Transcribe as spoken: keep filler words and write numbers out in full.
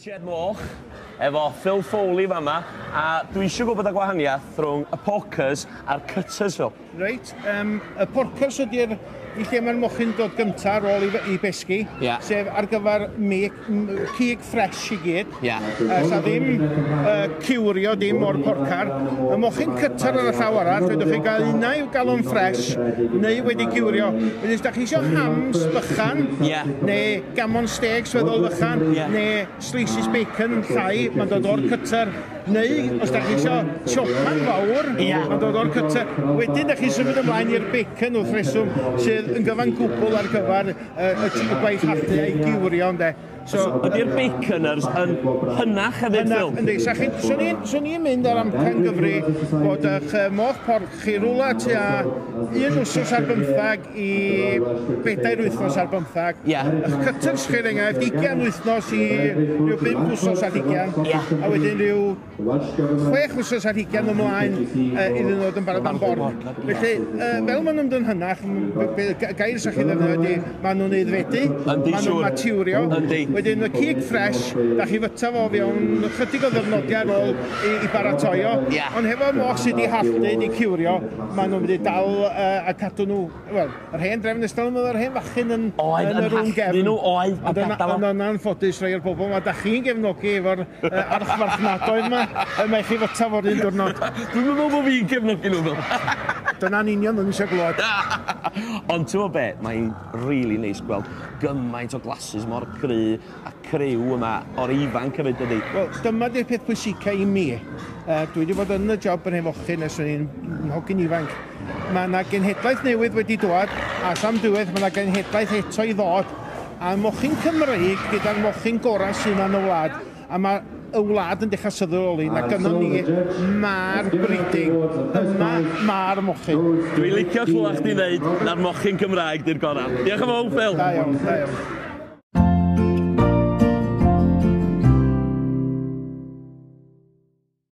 Sied moch, efo Phil Foley fama, a dwi eisiau gwybod y gwahaniaeth rhwng y porkers a'r cutters, Phil. Reit, um, y porkers ydy'r i lle mae'r mochyn dod gyntaf ar ôl i, i besgi, yeah. Sef ar gyfer me, cig ffres i gyd. Yeah. Uh, sa ddim uh, ciwrio dim o'r porcar. Y mochyn cutter ar y llaw arall, fedrwch chi gael unau i'w gael o'n ffres, neu wedi ciwrio. Wedyn, os da chi eisiau hams bychan, yeah. Neu gammon steaks weddol fychan, yeah. Neu slices bacon llai, mae'n dod o'r cutter. Neu, os da chi eisiau chopan fawr, yeah. Mae'n dod o'r cutter. Wedyn, da chi symud ymlaen i'r bacon wrth reswm, sydd yn gyfan gwbl ar gyfer uh, y gwaith halltu a'i giwrio, ynde. So, ydy'r baconers yn hynach hefyd, Phil? Yndi, swn i'n mynd ar amcan gyfri bod eich moch porc chi rwla tua un wsos ar bymthag i bedair wythnos ar bymthag. Yeah. Eich cutters chi, er enghraifft, ugain wythnos i rhyw bump wsos ar hugain. Yeah. A wedyn rhyw chwech wsos ar hugain ymlaen uh, iddyn nhw ddod yn barod am borc. Felly, uh, fel maen nhw'n mynd yn hynach, gair sy'ch chi ddefnyddio ydy, maen nhw'n aeddfedu, maen nhw'n maturio. Wedyn y cig ffres, da chi fyta fo fewn chydig o ddyrnodiau ar ôl i, i baratoi o. Yeah. Ond hefo moch sydd wedi halltu, wedi ciwrio, maen nhw'n mynd i dal uh, a cadw nhw, wel, yr hen drefn ystod yn yr hen fachyn yn, oedd, yn yr rwng gefn. Nhw, oedd, a gadael o. Ond yn anffodus rhai o'r bobl, ma da chi'n gefnogi efo'r uh, archfarchnadoedd yma, y mae chi fyta fo'r un diwrnod. Dwi'n meddwl bod fi'n gefnogi nhw, Phil. Dyna'n union o'n eisiau glwad. Ond ti'n gwybod be, mae'n really neis gweld gymaint o glasses mor cry a criw yma o'r ifanc hefyd, dydy. Wel, dyma di'r peth pwysica i mi. Uh, dwi wedi bod yn y job yn hefochyn ers o'n i'n hogyn ifanc. Mae yna genhedlaeth newydd wedi dod, a sam diwedd mae yna genhedlaeth eto i ddod. A mochyn Cymreig gyda'r mochyn gorau sydd yna yn y wlad. A mae y wlad yn dechrau sylweddoli na gynnon ni ma'r breeding, yma ma'r mochyn. Dwi'n licio clywed chdi ddeud na'r mochyn Cymraeg di'r gorau. Diolch yn fawr, Phil. Da iawn, da iawn.